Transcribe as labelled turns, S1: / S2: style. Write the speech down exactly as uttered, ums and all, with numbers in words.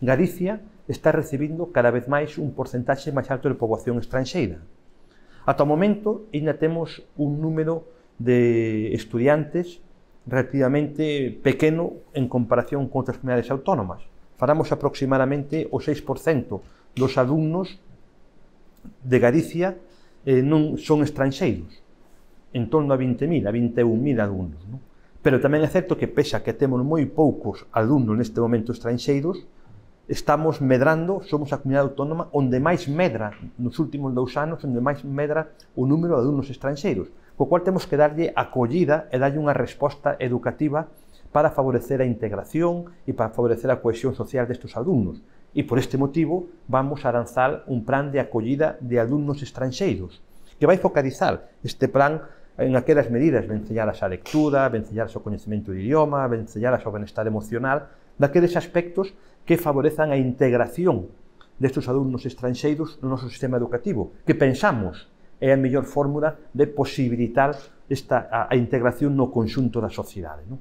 S1: Galicia está recibindo cada vez máis un porcentaxe máis alto de poboación estranxeira. Ata o momento, ainda temos un número de estudiantes relativamente pequeno en comparación con outras comunidades autónomas. Falamos aproximadamente o seis por cento dos alumnos de Galicia eh, non son estranxeiros, en torno a vinte mil, a vinte e un mil alumnos. Non? Pero tamén é certo que, pese a que temos moi poucos alumnos neste momento estranxeiros, estamos medrando, somos a comunidade autónoma onde máis medra, nos últimos dous anos, onde máis medra o número de alumnos estranxeiros, co cual temos que darlle acollida e darlle unha resposta educativa para favorecer a integración e para favorecer a cohesión social destes alumnos. E por este motivo vamos a lanzar un plan de acollida de alumnos estranxeiros, que vai focalizar este plan en aquelas medidas, vencelladas á lectura, vencelladas ao coñecemento de idioma, vencelladas ao benestar emocional, daqueles aspectos que favorezan a integración destes alumnos estranxeiros no noso sistema educativo, que pensamos é a mellor fórmula de posibilitar esta, a, a integración no conxunto da sociedade. Non?